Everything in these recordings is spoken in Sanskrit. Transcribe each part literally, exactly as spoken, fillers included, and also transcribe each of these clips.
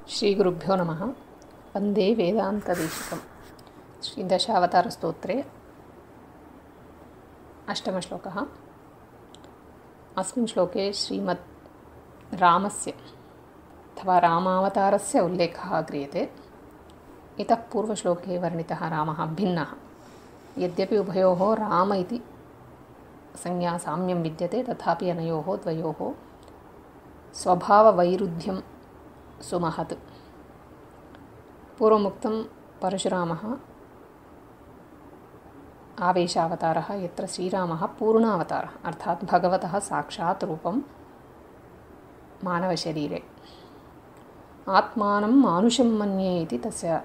श्रीगुरुभ्यो नमः। वन्दे वेदान्तदेशिकं। श्रीदशावतारस्तोत्रे अष्टमश्लोकः। अस्मिन् श्लोके श्रीमद् रामस्य अथवा रामावतारस्य उल्लेखः क्रियते। इतः पूर्वश्लोके वर्णितः रामः भिन्नः। यद्यपि उभयोः राम इति संज्ञा साम्यं विद्यते, तथापि अनयोः द्वयोः स्वभाववैरुध्यं सुमहत्। पूर्वमुक्तं परशुरामः आवेशावतारः, यत्र श्रीरामः पूर्णावतारः, अर्थात् भगवतः साक्षात् रूपं मानवशरीरे। आत्मानं मानुषं मन्ये इति तस्य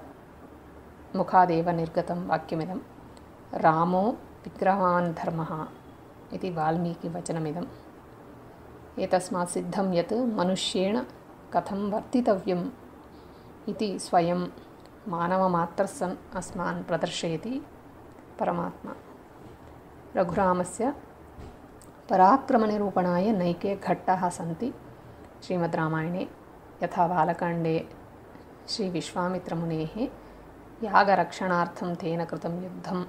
मुखादेव निर्गतं वाक्यमिदं। रामो विग्रहवान् धर्मः इति वाल्मीकिवचनमिदम्। एतस्मात् सिद्धं यत् मनुष्येण कथं वर्तितव्यम् इति स्वयं मानवमात्रस्सन् अस्मान् प्रदर्शयति परमात्मा। रघुरामस्य पराक्रमनिरूपणाय नैके घट्टाः सन्ति श्रीमद् रामायणे। यथा बालकाण्डे श्रीविश्वामित्रमुनेः यागरक्षणार्थं तेन कृतं युद्धं,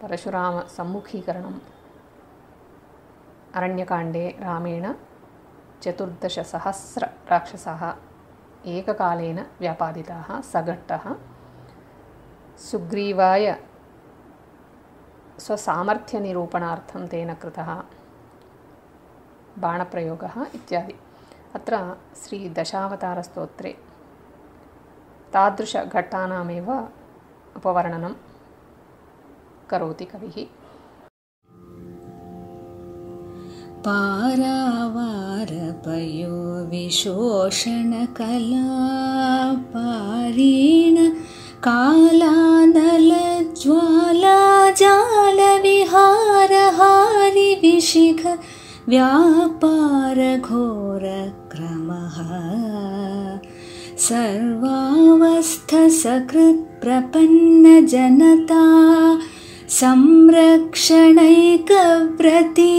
परशुरामसम्मुखीकरणम्, अरण्यकाण्डे रामेण चतुर्दशसहस्रराक्षसाः एककालेन व्यापादिताः, सघट्टः सुग्रीवाय स्वसामर्थ्यनिरूपणार्थं तेन कृतः बाणप्रयोगः इत्यादि। अत्र श्रीदशावतारस्तोत्रे तादृशघट्टानामेव उपवर्णनं करोति कविः। पारावारपयो विशोषणकला पारीण कालानलज्वालाजालविहारहारि विशिख व्यापारघोरक्रमः सर्वावस्थसकृत्प्रपन्नजनता संरक्षणैकव्रती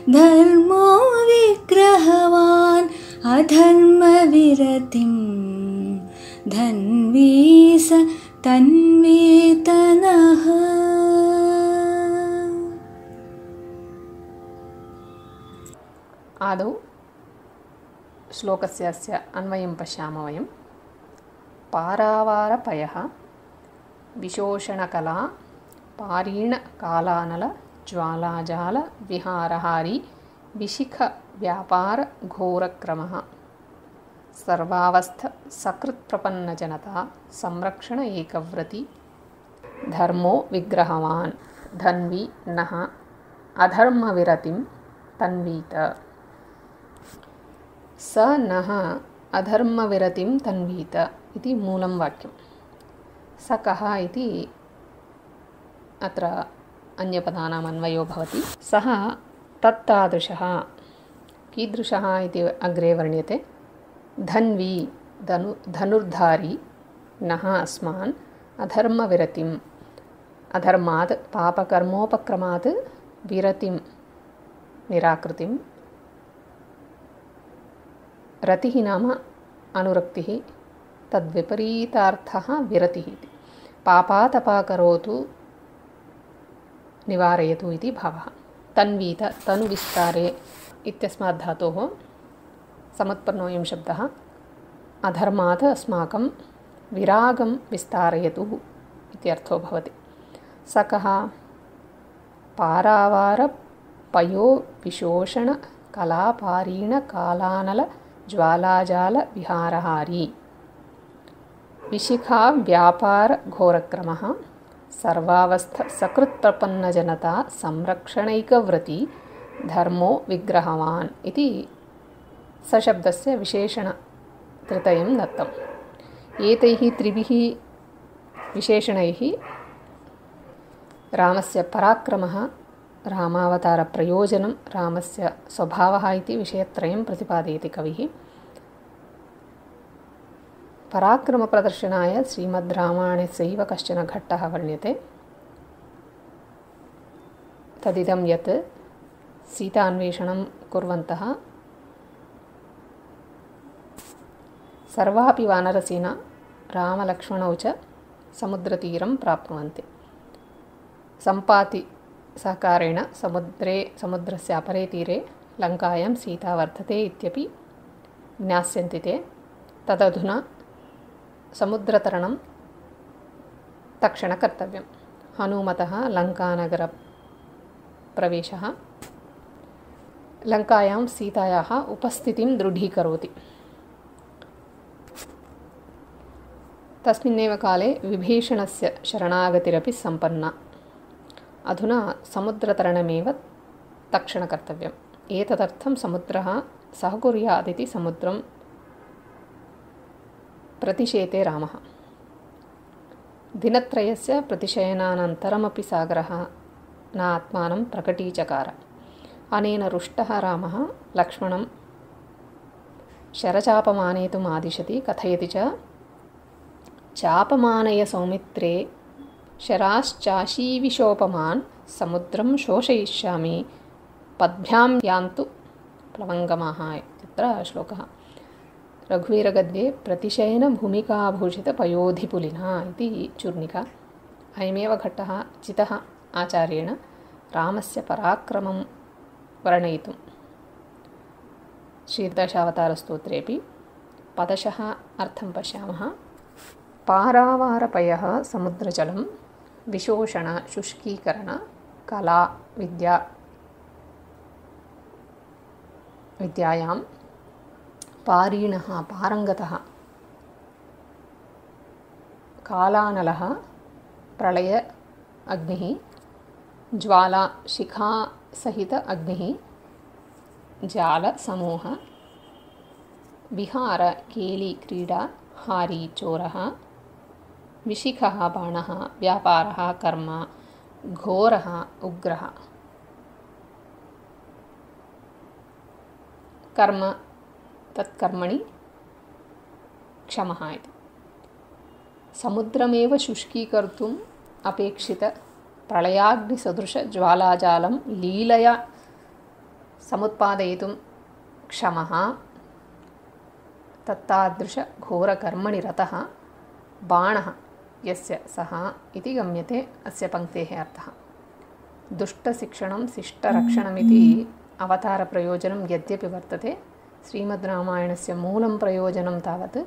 धर्मो विग्रहवान् अधर्मविरतिं धन्वी स तन्वीतनः। आदौ श्लोकस्य अस्य अन्वयं पश्यामः वयं। पारावारपयः विशोषणकला पारीणकालानल ज्वालाजालविहारहारी विशिखव्यापारघोरक्रमः सर्वावस्थसकृत्प्रपन्नजनता संरक्षण एकव्रती धर्मो विग्रहवान् धन्वी नः अधर्मविरतिं तन्वीत। स नः अधर्मविरतिं तन्वीत इति मूलं वाक्यं। स कः इति अत्र अन्यपदानाम् अन्वयो भवति। सः तत्तादृशः, कीदृशः इति अग्रे वर्ण्यते। धन्वी धनु धनुर्धारी नः अस्मान् अधर्मविरतिम्, अधर्मात् पापकर्मोपक्रमात् विरतिं निराकृतिं। रतिः नाम अनुरक्तिः, तद्विपरीतार्थः विरतिः इति। पापातपाकरोतु निवारयतु इति भावः। तन्वीत तनुविस्तारे इत्यस्मात् धातोः समुत्पन्नोऽयं शब्दः। अधर्मात् अस्माकं विरागं विस्तारयतु इत्यर्थो भवति। स कः? पारावारपयो विशोषणकलापारीणकालानलज्वालाजालविहारहारी विशिखाव्यापारघोरक्रमः सर्वावस्थसकृत्प्रपन्नजनता संरक्षणैकव्रती धर्मो विग्रहवान् इति सशब्दस्य विशेषणत्रयं दत्तम्। एतैः त्रिभिः विशेषणैः रामस्य पराक्रमः, रामावतारप्रयोजनं, रामस्य स्वभावः इति विषयत्रयं प्रतिपादयति कविः। पराक्रमप्रदर्शनाय श्रीमद् रामायणस्यैव कश्चन घट्टः वर्ण्यते। तदिदं यत् सीतान्वेषणं कुर्वन्तः सर्वापि वानरसेना रामलक्ष्मणौ च समुद्रतीरं प्राप्नुवन्ति। सम्पाति सहकारेण समुद्रे समुद्रस्य अपरे तीरे लङ्कायां सीता वर्तते इत्यपि ज्ञास्यन्ति ते। तदधुना समुद्रतरणं तक्षण कर्तव्यं। हनुमतः लङ्कानगरप्रवेशः लङ्कायां सीतायाः उपस्थितिं दृढीकरोति। तस्मिन्नेव काले विभीषणस्य शरणागतिरपि सम्पन्ना। अधुना समुद्रतरणमेव तक्षणकर्तव्यम्। एतदर्थं समुद्रः सहकुर्यादिति समुद्रं प्रतिशेते रामः। दिनत्रयस्य प्रतिशयनानन्तरमपि सागरः न आत्मानं प्रकटीचकार। अनेन रुष्टः रामः लक्ष्मणं शरचापमानेतुम् आदिशति। कथयति च, चापमानय सौमित्रे शराश्चाशीविशोपमान् समुद्रं शोषयिष्यामि पद्भ्यां यान्तु प्लवङ्गमाः इत्यत्र श्लोकः। रघुवीरगद्ये प्रतिशयनभूमिकाभूषितपयोधिपुलिना इति चूर्णिका। अयमेव घट्टः चितः आचार्येण रामस्य पराक्रमं वर्णयितुं श्रीदशावतारस्तोत्रेऽपि पदशः अर्थं पश्यामः। पारावारपयः समुद्रजलं विशोषण शुष्कीकरण कला विद्या विद्यायां पारीणः पारङ्गतः कालानलः प्रलय अग्निः ज्वाला शिखा सहित अग्निः जालसमूह विहार केली क्रीडा हारी चोरः विशिखः बाणः व्यापारः कर्म घोरः उग्रः। कर्म तत्कर्मणि क्षमः इति। समुद्रमेव शुष्कीकर्तुम् अपेक्षित प्रलयाग्निसदृशज्वालाजालं लीलया समुत्पादयितुं क्षमः तत्तादृशघोरकर्मणि रतः बाणः यस्य सः इति गम्यते अस्य पङ्क्तेः अर्थः। दुष्टशिक्षणं शिष्टरक्षणमिति अवतारप्रयोजनं यद्यपि वर्तते, श्रीमद्रामायणस्य मूलं प्रयोजनं तावत्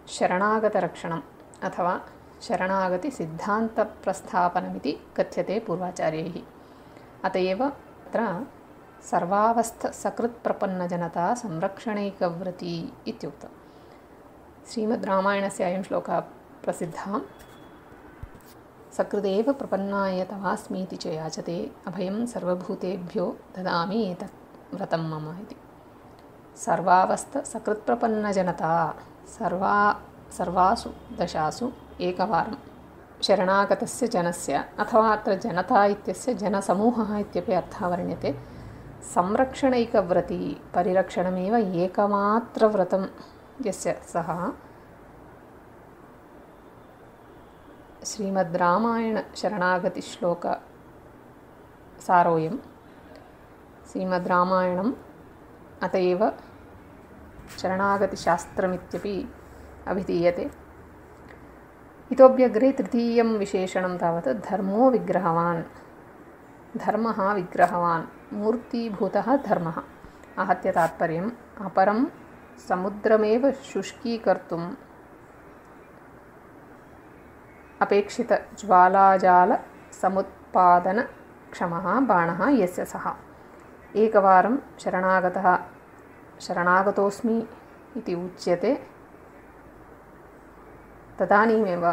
शरणागतरक्षणम् अथवा शरणागतिसिद्धान्तप्रस्थापनमिति कथ्यते पूर्वाचार्यैः। अत एव अत्र सर्वावस्थसकृत्प्रपन्नजनता संरक्षणैकव्रती इत्युक्तम्। श्रीमद्रामायणस्य अयं श्लोकः प्रसिद्धः। सकृदेव प्रपन्नाय तवास्मीति च याचते अभयं सर्वभूतेभ्यो ददामि एतत् व्रतं मम इति। सर्वावस्थसकृत्प्रपन्नजनता सर्वा सर्वासु दशासु एकवारं शरणागतस्य जनस्य अथवा अत्र जनता इत्यस्य जनसमूहः इत्यपि अर्थः वर्ण्यते। संरक्षणैकव्रती परिरक्षणमेव एकमात्रव्रतं यस्य सः श्रीमद्रामायणशरणागतिश्लोकसारोऽयं। श्रीमद्रामायणम् अत एव शरणागतिशास्त्रमित्यपि अभिधीयते। इतोऽप्यग्रे तृतीयं विशेषणं तावत् धर्मो विग्रहवान् धर्मः विग्रहवान् मूर्तिभूतः धर्मः आहत्य तात्पर्यम् अपरं समुद्रमेव शुष्कीकर्तुम् अपेक्षितज्वालाजालसमुत्पादनक्षमः बाणः यस्य सः। एकवारं शरणागतः शरणागतोऽस्मि इति उच्यते तदानीमेव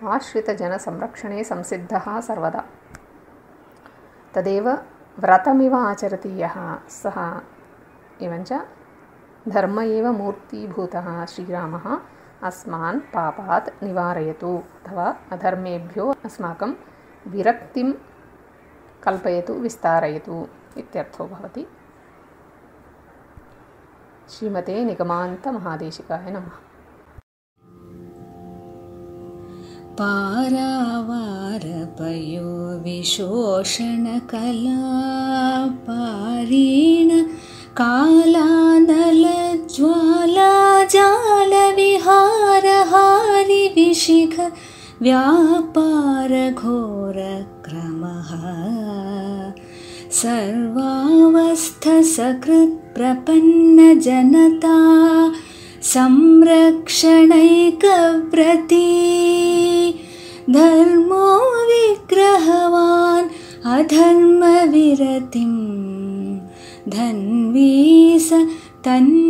आश्रितजनसंरक्षणे संसिद्धः सर्वदा। तदेव व्रतमिव आचरति यः सः। एवञ्च धर्म एव मूर्तिभूतः श्रीरामः अस्मान् पापात् निवारयतु अथवा अधर्मेभ्यो अस्माकं विरक्तिं कल्पयतु विस्तारयतु इत्यर्थो भवति। श्रीमते निगमान्तमहादेशिकाय नमः। पारावारपयो विशोषणकला पारीण कालानलज्वालाजाल व्यापारघोरक्रमः सर्वावस्थसकृत्प्रपन्नजनता संरक्षणैकव्रती धर्मो विग्रहवान् अधर्मविरतिं धन्वी स तन्